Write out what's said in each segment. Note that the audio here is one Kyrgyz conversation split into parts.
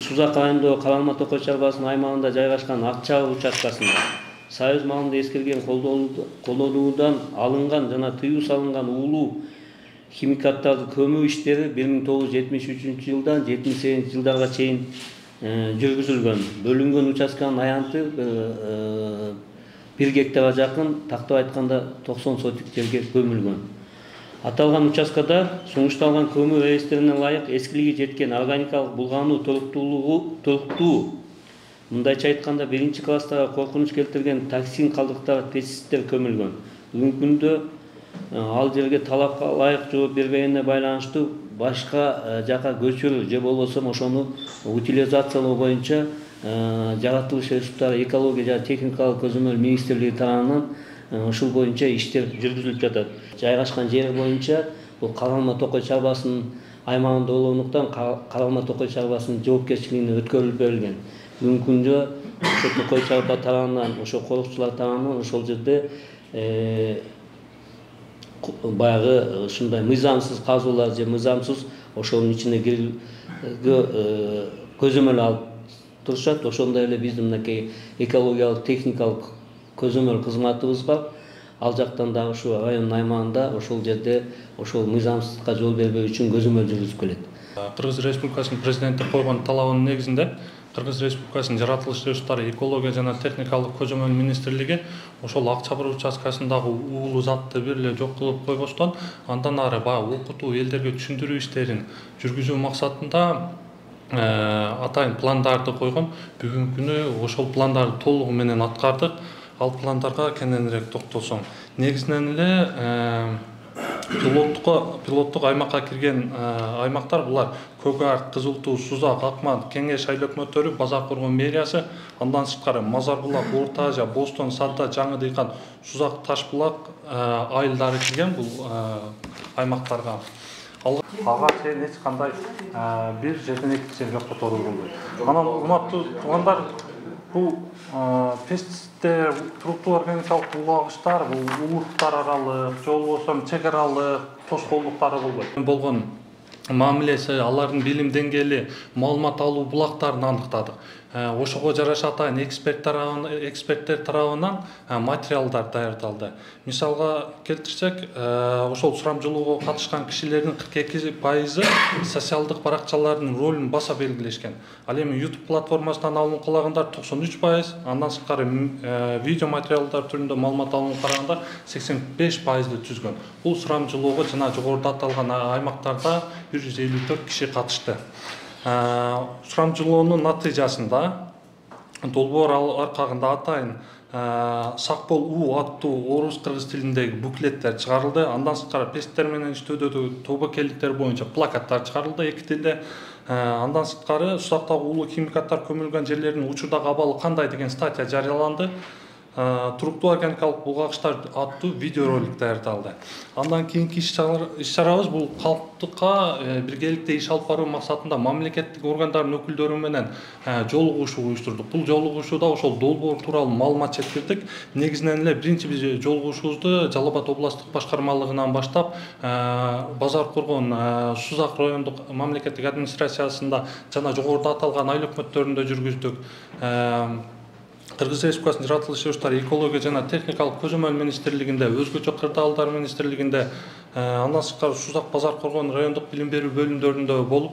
Сузак районундагы Калалма Токой чарбасынын аймагында жайгашкан Акчабыр участкасында союз малында эскерген колдонуудан алынган жана тыюу салынган уулуу химикаттарды көмүү иштери 1973 жылдан 78 жылдарга чейин жүргүзүлгөн. Бөлүнгөн участканын аянты 1 гектарга жакын, тактап айтканда 90 сотик жерге көмүлгөн. Аталган участкада сунушталган көмүү реестерине ылайык эскилиги жеткен органикалык булгануу толуктуу, мындайча айтканда 1 класстагы коркунуч келтирген токсин калдыктары, пестициддер көмүлгөн. Бүгүнкү күндө ал жерге талапка ылайык жооп бербегенине байланыштуу башка жака көчүрүү же болбосо ошону утилизациялоо боюнча жаратылыш ресурстары экология жана техникалык көзөмөл министрлиги тарабынан ушул боюнча иштер жүргүзүлүп жатат. Жайгашкан жери боюнча бул Калалма Токой чарбасынын аймагында болгондуктан Калалма Токой чарбасынын жоопкерчилигине өткөрүлүп берилген. Бүгүнкү күндө ошо Токой чарба тарабынан, ошо корукчулар тарабынан ошол жерде баягы ушундай мыйзамсыз казуулар же мыйзамсыз ошонун ичине кирүүгө көзөмөл алып турушат. Ошондой эле биздин мынакей экологиялык техникалык көзөмөл кызматыбыз бар. Ал жактан дагы ушу райондун аймагында ошол жерде ошол мыйзамсыздыкка жол бербөө үчүн көзөмөл жүргүзүп келет. Кыргыз Республикасынын президенти койгон талабынын негизинде Кыргыз Республикасынын жаратылыш ресурстары, экология жана техникалык көзөмөл министрлиги ошол Акчабыр участкасындагы уулуу затты бир эле жок кылып койбостон, андан ары баягы окутуу, элдерге түшүндүрүү иштерин жүргүзүү максатында атайын пландарды койгон. Бүгүнкү күнү ошол пландарды толугу менен аткардык. Ал пландарга кененирээк токтолсоң, негизинен эле пилоттук аймакка кирген аймактар булар Көк Ар, Кызыл Туу, Сузак, Акман, Кеңеш айыл өкмөттөрү, Базар Коргон мэриясы, андан сырткары Мазар Булак, Орто Азия, Бостон, Садда, Жаңы Дыйкан, Сузак, Таш Булак айылдары кирген бул аймактарга. Ага чейин эч кандай бир жерден экинчи жерге которулбойт. Анан урматтуу туугандар, бул пестициддер, туруктуу органикалык булгагычтар, бул улуттар аралык, же болбосо чек аралык тоскоолдуктары болгон мамилеси, алардын билим деңгээли, маалымат алуу булактарын аныктадык. Ошого жараша атайын эксперттер тарабынан материалдар даярдалды. Мисалга келтирсек, ошол сурамжылоого катышкан кишилердин 42% социалдык баракчалардын ролун баса белгилешкен. Ал эми YouTube платформасынан алынып калагандар 93%, андан сырткары видео материалдар түрүндө маалымат алынып карагандар 85%ды түзгөн. Бул сурамжылоого жана жогоруда аталган аймактарда 154 киши катышты. Сурамжылоонун натыйжасында долбоор аркагында атайын сак бол уу аттуу орус кыргыз тилиндеги буклеттер чыгарылды. Андан сырткары пестициттер менен иштөөдөгү тобокелдиктер боюнча плакаттар чыгарылды 2 тилде. Андан сырткары сузактагы уулуу химикаттар көмүлгөн жерлердин учурдагы абалы кандай деген статья жарыяланды. Туруктуу органикалык булгагычтар аттуу видеоролик даярдалды. Андан кийинки иш-чарабыз бул калктыкка биргеликте иш алып баруу максатында мамлекеттик органдардын өкүлдөрү менен жолугушуу уюштурдук. Бул жолугушууда ошол долбоор тууралуу маалымат жеткирдик. Негизинен эле биринчи биз жолугушуубузду Жалал Абад областтык башкармалыгынан баштап Базар Коргон Сузак райондук мамлекеттик администрациясында жана жогоруда аталган айыл өкмөттөрүндө жүргүздүк. Кыргыз Республикасынын жаратылыш ресурстары, экология жана техникалык көзөмөл министрлигинде, өзгөчө кырдаалдар министрлигинде, андан сырткары Сузак, Базар Коргон райондук билим берүү бөлүмдөрүндө болуп,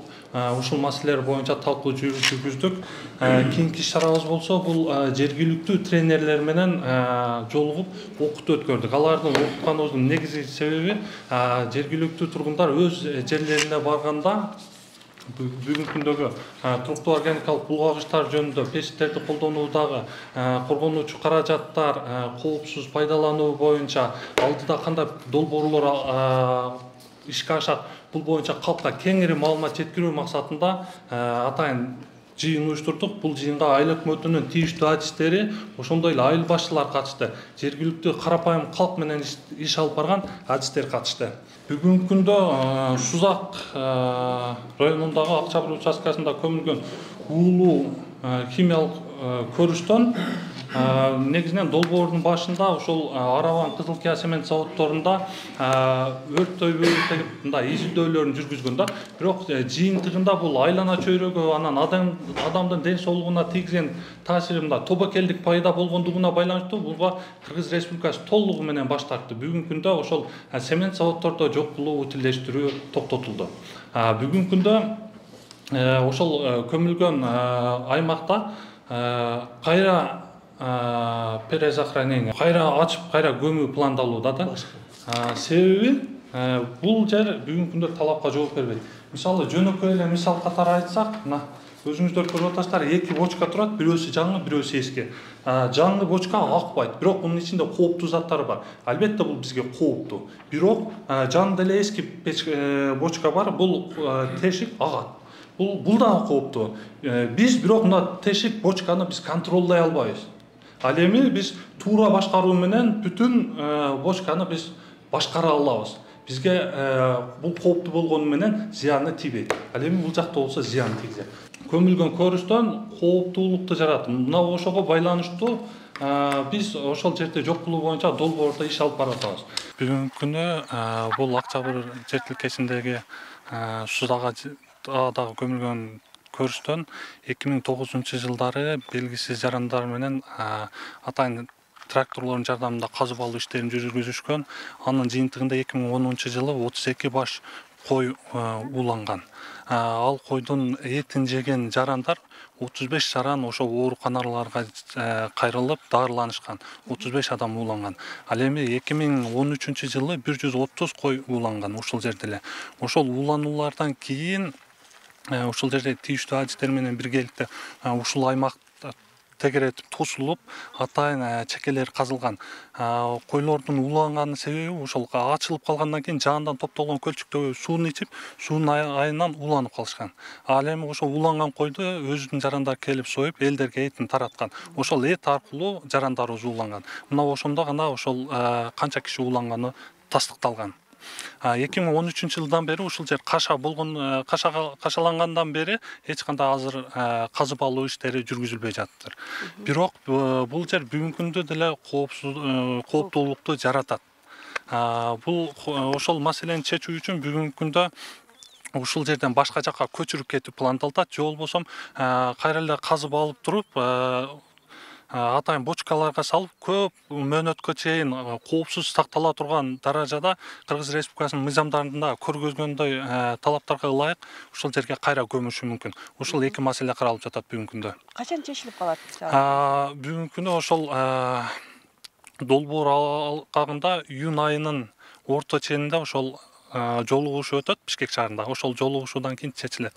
ушул маселелер боюнча талкуу жүргүздүк. Кийинки иш-чарабыз болсо, бул жергиликтүү тренерлер менен жолугуп окутуу өткөрдүк. Алардын окутканыбыздын негизги себеби жергиликтүү тургундар өз жерлерине барганда бүгүнкү күндөгү туруктуу органикалык булгагычтар жөнүндө, пестицидтерди колдонуудагы коргонуучу каражаттар, коопсуз пайдалануу боюнча алдыда кандай долбоорлор ишке ашат, бул боюнча калкка кеңири маалымат жеткирүү максатында атайын жыйын уюштурдук. Бул жыйынга айыл өкмөтүнүн тийиштүү адистери, ошондой эле айыл башчылар катышты. Жергиликтүү карапайым калк менен иш алып барган адистер катышты. Бүгүнкү күндө Сузак районундагы Акчабыр участкасында көмүлгөн уулуу химиялык көрүштөн негизинен долбоордун башында ошол Арабан Кызыл Кия цемент заводдорунда өрттөйбү деп мындай изилдөөлөрүн жүргүзгөн да. Бирок жыйынтыгында бул айлана чөйрөгө анан адамдын ден соолугуна тийгизген таасири мындай тобокелдик пайда болгондугуна байланыштуу буга Кыргыз Республикасы толугу менен баш тартты. Бүгүнкү күндө ошол цемент заводдордо жок кылуу, утилдештирүү токтотулду. Бүгүнкү күндө ошол көмүлгөн аймакта кайра перезахоронение, кайра ачып, кайра көмүү пландалууда да. Себеби бул жер бүгүнкү күндө талапка жооп бербейт. Мисалы жөнөкөй эле мисал катары айтсак, мына өзүңүздөр көрүп атасыздар, 2 бочка турат, бирөөсү жаңы, бирөөсү эски. Жаңы бочка акпайт, бирок мунун ичинде кооптуу заттар бар. Албетте бул бизге кооптуу. Бирок жаңы эле эски бочка бар, бул тешик агат. Бул дагы кооптуу. Биз бирок мына тешик бочканы биз контролдой албайбыз. Ал эми биз туура башкаруу менен бүтүн бочканы биз башкара алабыз. Бизге бул кооптуу болгону менен зыяны тийбейт. Ал эми бул жакта болсо зыян тийгизет. Көмүлгөн көрүстөн кооптуулукту жаратат. Мына ошого байланыштуу биз ошол жерде жок кылуу боюнча долбоордо иш алып баратабыз. Бүгүнкү күнү бул Акчабыр жер тилкесиндеги Судага дагы көмүлгөн көрүстөн 2009-жылдары белгисиз жарандар менен атайын тракторлордун жардамында казып алуу иштерин жүргүзүшкөн. Анын жыйынтыгында 2010-жылы 32 баш кой ууланган. Ал койдун этин жеген жарандар 35 жаран ошо ооруканаларга кайрылып дарыланышкан. 35 адам ууланган. Ал эми 2013-жылы 130 кой ууланган ушул жерде эле. Ошол уулануулардан кийин ушул жерде тийиштүү адистер менен биргеликте ушул аймак тегеретип тосулуп, атайын чекелер казылган. Койлордун ууланганын себеби ошол ачылып калгандан кийин жаандан топтолгон көлчүктөгү сууну ичип, суунун айынан ууланып калышкан. Ал эми ошол ууланган койду өзүнүн жарандары келип союп, элдерге этин тараткан. Ошол эт аркылуу жарандарыбыз ууланган. Мына ошондо гана ошол канча киши ууланганы тастыкталган. 2013-жылдан бери ушул жер кашалангандан бери эч кандай азыр казып алуу иштери жүргүзүлбөй жатыр. Бирок бул жер бүгүнкү күндө деле кооптуулукту жаратат. Бул ошол маселени чечүү үчүн бүгүнкү күндө ушул жерден башка жакка көчүрүп кетүү пландалат, же болбосо кайра эле казып алып туруп атайын бочкаларга салып көп мөөнөткө чейин коопсуз сактала турган даражада Кыргыз Республикасынын мыйзамдарында көргөзгөндөй талаптарга ылайык ушул жерге кайра көмүшү мүмкүн. Ушул эки маселе каралып жатат бүгүнкү күндө. Качан чечилип калат? Бүгүнкү күндө ошол долбоор алкагында июнь айынын орто ченинде ошол жолугушуу өтөт Бишкек шаарында. Ошол жолугушуудан кийин чечилет.